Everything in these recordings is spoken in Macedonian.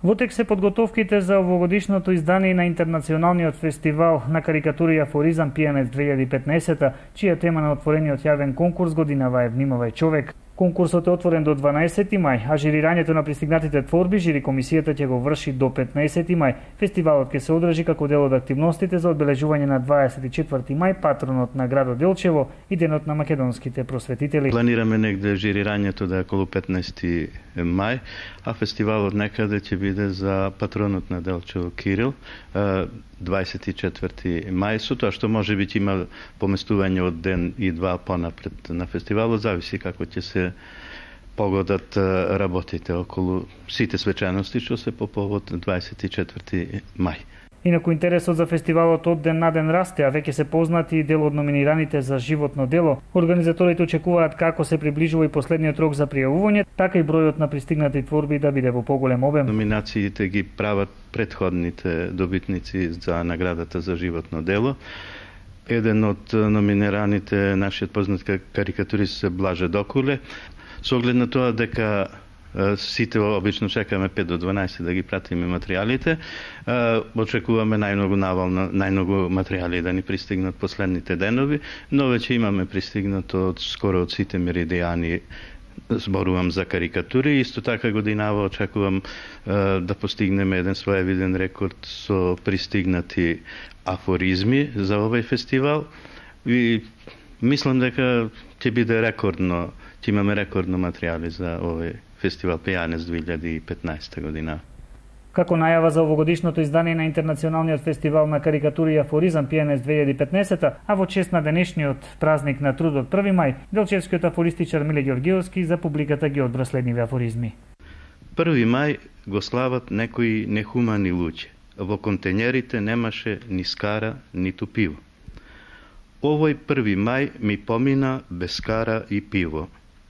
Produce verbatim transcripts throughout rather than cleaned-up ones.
Во тек се подготовките за овогодишното издание на интернационалниот фестивал на карикатури и афоризам Пијанец две илјади и петнаесета, чија тема на отворениот јавен конкурс годинава е "Внимавај човек". Конкурсот е отворен до дванаесети мај, а жирирањето на пристигнатите творби жири комисијата ќе го врши до петнаесети мај. Фестивалот ќе се одржи како дел од активностите за одбележување на дваесет и четврти мај, патронот на градот Делчево и денот на македонските просветители. Планираме негде жирирањето да е околу петнаесети мај, а фестивалот некаде ќе биде за патронот на Делчево Кирил, дваесет и четврти мај, со тоа што може би ќе има поместување од ден и два понапред на фестивалот, зависи како ќе се погодат работите околу сите свечаности што се по повод дваесет и четврти мај. Инаку интересот за фестивалот од ден на ден расте, а веќе се познати и дел од номинираните за животно дело. Организаторите очекуваат како се приближува и последниот рок за пријавување, така и бројот на пристигнати творби да биде во поголем обем. Номинациите ги прават претходните добитници за наградата за животно дело. Еден од номинираните нашиот познат карикатурист Блаже Докуле. Со оглед на тоа дека сите обично чекаме пет до дванаесет да ги пратиме материјалите, очекуваме најмногу навално, најмногу материјали да ни пристигнат последните денови, но веќе имаме пристигнато од скоро од сите меридијани. Зборувам за карикатури, исто така годинава очекувам да постигнеме еден своевиден рекорд со пристигнати афоризми за овој фестивал и мислам дека ќе биде рекордно, ќе имаме рекордно материјали за овој фестивал Пијанец две илјади и петнаесета година. Како најава за овогодишното издание на Интернационалниот фестивал на карикатури и афоризам Пијанец две илјади и петнаесета, а во чест на денешниот празник на трудот први мај, делчевскиот афористичар Миле Ѓоргиевски за публиката ги одбра следниви афоризми. први мај го слават некои нехумани луѓе. Во контењерите немаше ни скара, ниту пиво. Овој први мај ми помина без скара и пиво.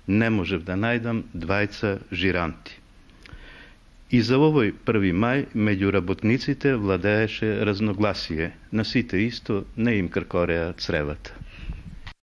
Не можев да најдам двајца жиранти. И за овој први мај меѓу работниците владееше разногласие. На сите исто не им кркореа цревата.